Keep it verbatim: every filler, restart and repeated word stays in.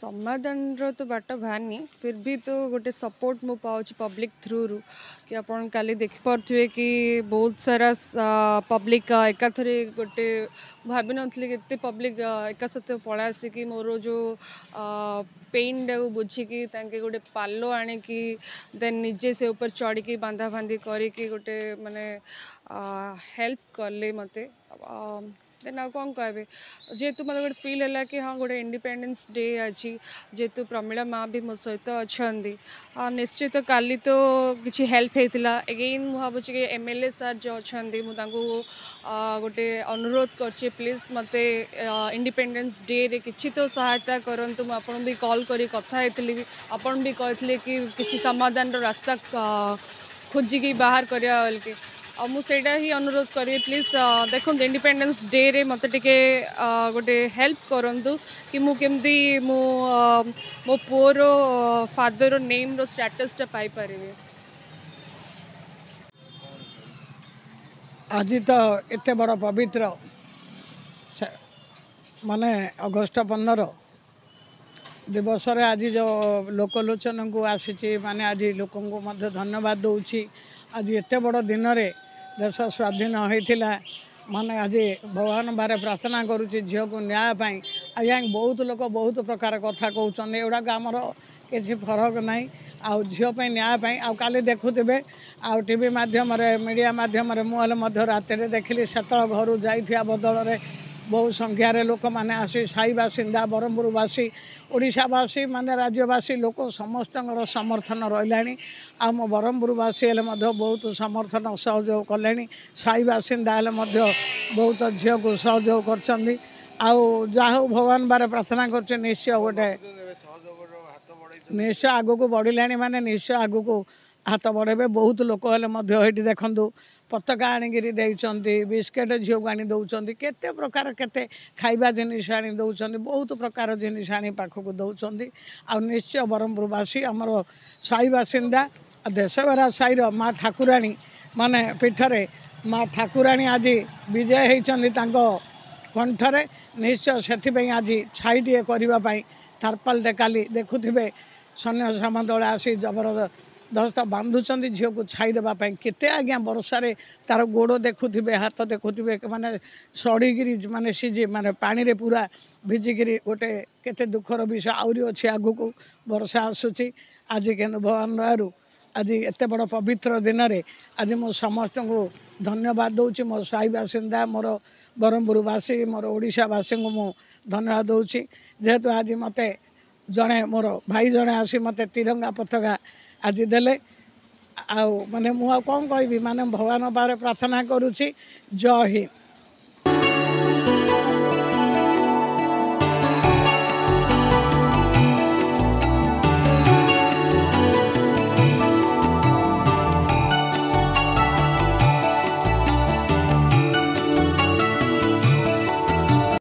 ସମାଧାନର ତ ବାଟ ବାହାରିନି, ଫିର୍ ବି ତ ଗୋଟେ ସପୋର୍ଟ ମୁଁ ପାଉଛି ପବ୍ଲିକ୍ ଥ୍ରୁରୁ କି ଆପଣ କାଲି ଦେଖିପାରୁଥିବେ କି ବହୁତ ସାରା ପବ୍ଲିକ୍ ଏକାଥରେ ଗୋଟେ, ଭାବିନଥିଲି କି ଏତେ ପବ୍ଲିକ୍ ଏକା ସହିତ ପଳେଇ ଆସିକି ମୋର ଯେଉଁ ପେନ୍ଟାକୁ ବୁଝିକି ତାଙ୍କେ ଗୋଟେ ପାଲ ଆଣିକି ଦେନ୍ ନିଜେ ସେ ଉପରେ ଚଢ଼ିକି ବାନ୍ଧା ବାନ୍ଧି କରିକି ଗୋଟେ ମାନେ ହେଲ୍ପ କଲେ ମୋତେ। ଦେନ୍ ଆଉ କ'ଣ କହିବି? ଯେହେତୁ ମୋତେ ଗୋଟେ ଫିଲ୍ ହେଲା କି ହଁ, ଗୋଟେ ଇଣ୍ଡିପେଣ୍ଡେନ୍ସ ଡେ ଅଛି, ଯେହେତୁ ପ୍ରମିଳା ମା ବି ମୋ ସହିତ ଅଛନ୍ତି, ନିଶ୍ଚିତ କାଲି ତ କିଛି ହେଲ୍ପ ହେଇଥିଲା। ଏଗେନ୍ ମୁଁ ଭାବୁଛି କି ଏମ୍ ଏଲ୍ ଏ ସାର୍ ଯେଉଁ ଅଛନ୍ତି, ମୁଁ ତାଙ୍କୁ ଗୋଟେ ଅନୁରୋଧ କରୁଛି, ପ୍ଲିଜ୍ ମୋତେ ଇଣ୍ଡିପେଣ୍ଡେନ୍ସ ଡେରେ କିଛି ତ ସହାୟତା କରନ୍ତୁ। ମୁଁ ଆପଣଙ୍କୁ ବି କଲ୍ କରି କଥା ହେଇଥିଲି, ଆପଣ ବି କହିଥିଲେ କି କିଛି ସମାଧାନର ରାସ୍ତା ଖୋଜିକି ବାହାର କରିବା ବୋଲିକି। ଆଉ ମୁଁ ସେଇଟା ହିଁ ଅନୁରୋଧ କରିବି, ପ୍ଲିଜ୍ ଦେଖନ୍ତୁ, ଇଣ୍ଡିପେଣ୍ଡେନ୍ସ ଡେରେ ମୋତେ ଟିକେ ଗୋଟେ ହେଲ୍ପ କରନ୍ତୁ କି ମୁଁ କେମିତି ମୁଁ ମୋ ପୁଅର ଫାଦର ନେମ୍ର ଷ୍ଟାଟସ୍ଟା ପାଇପାରିବି। ଆଜି ତ ଏତେ ବଡ଼ ପବିତ୍ର ମାନେ ଅଗଷ୍ଟ ପନ୍ଦର ଦିବସରେ ଆଜି ଯେଉଁ ଲୋକଲୋଚନକୁ ଆସିଛି, ମାନେ ଆଜି ଲୋକଙ୍କୁ ମଧ୍ୟ ଧନ୍ୟବାଦ ଦେଉଛି। ଆଜି ଏତେ ବଡ଼ ଦିନରେ ଦେଶ ସ୍ୱାଧୀନ ହୋଇଥିଲା, ମାନେ ଆଜି ଭଗବାନ ବାରେ ପ୍ରାର୍ଥନା କରୁଛି ଝିଅକୁ ନ୍ୟାୟ ପାଇଁ। ଆଜ୍ଞା, ବହୁତ ଲୋକ ବହୁତ ପ୍ରକାର କଥା କହୁଛନ୍ତି, ଏଗୁଡ଼ାକ ଆମର କିଛି ଫରକ ନାହିଁ। ଆଉ ଝିଅ ପାଇଁ ନ୍ୟାୟ ପାଇଁ, ଆଉ କାଲି ଦେଖୁଥିବେ ଆଉ ଟିଭି ମାଧ୍ୟମରେ, ମିଡ଼ିଆ ମାଧ୍ୟମରେ, ମୁଁ ହେଲେ ମଧ୍ୟ ରାତିରେ ଦେଖିଲି, ସେତେବେଳେ ଘରୁ ଯାଇଥିବା ବଦଳରେ ବହୁ ସଂଖ୍ୟାରେ ଲୋକମାନେ ଆସି, ସାହି ବାସିନ୍ଦା, ବ୍ରହ୍ମପୁରବାସୀ, ଓଡ଼ିଶାବାସୀ, ମାନେ ରାଜ୍ୟବାସୀ ଲୋକ ସମସ୍ତଙ୍କର ସମର୍ଥନ ରହିଲାଣି। ଆଉ ମୋ ବ୍ରହ୍ମପୁରବାସୀ ହେଲେ ମଧ୍ୟ ବହୁତ ସମର୍ଥନ ସହଯୋଗ କଲେଣି, ସାହି ବାସିନ୍ଦା ହେଲେ ମଧ୍ୟ ବହୁତ ଝିଅକୁ ସହଯୋଗ କରିଛନ୍ତି। ଆଉ ଯାହା ହଉ, ଭଗବାନ ବାରେ ପ୍ରାର୍ଥନା କରୁଛି, ନିଶ୍ଚୟ ଗୋଟେ ନିଶ୍ଚୟ ଆଗକୁ ବଢ଼ିଲାଣି, ମାନେ ନିଶ୍ଚୟ ଆଗକୁ ହାତ ବଢ଼େଇବେ। ବହୁତ ଲୋକ ହେଲେ ମଧ୍ୟ ଏଇଠି ଦେଖନ୍ତୁ, ପତାକା ଆଣିକିରି ଦେଇଛନ୍ତି, ବିସ୍କେଟ୍ ଝିଅକୁ ଆଣି ଦେଉଛନ୍ତି, କେତେ ପ୍ରକାର କେତେ ଖାଇବା ଜିନିଷ ଆଣି ଦେଉଛନ୍ତି, ବହୁତ ପ୍ରକାର ଜିନିଷ ଆଣି ପାଖକୁ ଦେଉଛନ୍ତି। ଆଉ ନିଶ୍ଚୟ ବ୍ରହ୍ମପୁରବାସୀ, ଆମର ସାହି ବାସିନ୍ଦା, ଦେଶବେରା ସାହିର ମା ଠାକୁରାଣୀ ମାନେ ପୀଠରେ ମା ଠାକୁରାଣୀ ଆଜି ବିଜୟ ହେଇଛନ୍ତି ତାଙ୍କ କଣ୍ଠରେ, ନିଶ୍ଚୟ ସେଥିପାଇଁ ଆଜି ଛାଇଟିଏ କରିବା ପାଇଁ ତାରପାଲଟେ କାଲି ଦେଖୁଥିବେ, ସୈନ୍ୟ ସାମନ୍ତ ଆସି ଜବରଦସ୍ତ ବାନ୍ଧୁଛନ୍ତି ଝିଅକୁ ଛାଇ ଦେବା ପାଇଁ। କେତେ ଆଜ୍ଞା ବର୍ଷାରେ ତାର ଗୋଡ଼ ଦେଖୁଥିବେ, ହାତ ଦେଖୁଥିବେ, ମାନେ ସଢ଼ିକିରି, ମାନେ ସିଝି, ମାନେ ପାଣିରେ ପୁରା ଭିଜିକିରି ଗୋଟେ କେତେ ଦୁଃଖର ବିଷୟ। ଆହୁରି ଅଛି, ଆଗକୁ ବର୍ଷା ଆସୁଛି। ଆଜି କିନ୍ତୁ ଭଗବାନ ଦୟାରୁ ଆଜି ଏତେ ବଡ଼ ପବିତ୍ର ଦିନରେ ଆଜି ମୁଁ ସମସ୍ତଙ୍କୁ ଧନ୍ୟବାଦ ଦେଉଛି। ମୋ ସାହି ବାସିନ୍ଦା, ମୋର ବ୍ରହ୍ମପୁରବାସୀ, ମୋର ଓଡ଼ିଶାବାସୀଙ୍କୁ ମୁଁ ଧନ୍ୟବାଦ ଦେଉଛି, ଯେହେତୁ ଆଜି ମୋତେ ଜଣେ ମୋର ଭାଇ ଜଣେ ଆସି ମୋତେ ତିରଙ୍ଗା ପତାକା ଆଜି ଦେଲେ। ଆଉ ମାନେ ମୁଁ ଆଉ କ'ଣ କହିବି? ମାନେ ଭଗବାନ ପାଖରେ ପ୍ରାର୍ଥନା କରୁଛି। ଜୟ ହିନ୍ଦ।